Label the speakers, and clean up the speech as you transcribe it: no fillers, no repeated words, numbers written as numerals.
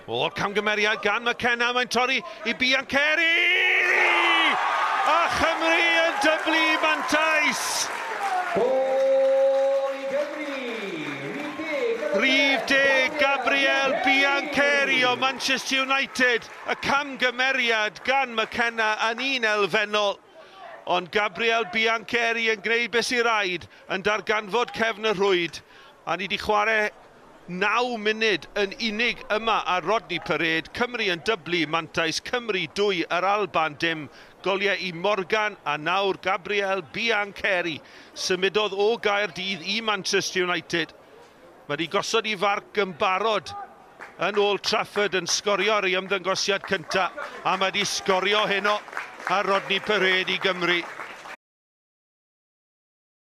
Speaker 1: O'r camgymeriad gan McKenna, mae'n torri i Biancheri! A Chymru yn dyblu mantais!
Speaker 2: Gôl i Gymru!
Speaker 1: Rhif 10, Gabriel Biancheri o Manchester United. Y camgymeriad gan McKenna yn un elfennol. Ond Gabriel Biancheri yn gwneud beth sy'n rhaid, yn darganfod cefn y rhwyd. A ni wedi chwarae 9 munud yn unig yma ar Rodney Parade. Cymru yn dyblu mantais, Cymru 2, yr Alban dim. Goliau i Morgan a nawr Gabriel Biancheri. Symudodd o Gaerdydd i Manchester United. Mae wedi gosod i farc yn barod yn Old Trafford yn sgorio ar ei ymddangosiad cyntaf, a mae wedi sgorio heno ar Rodney Parade i Gymru.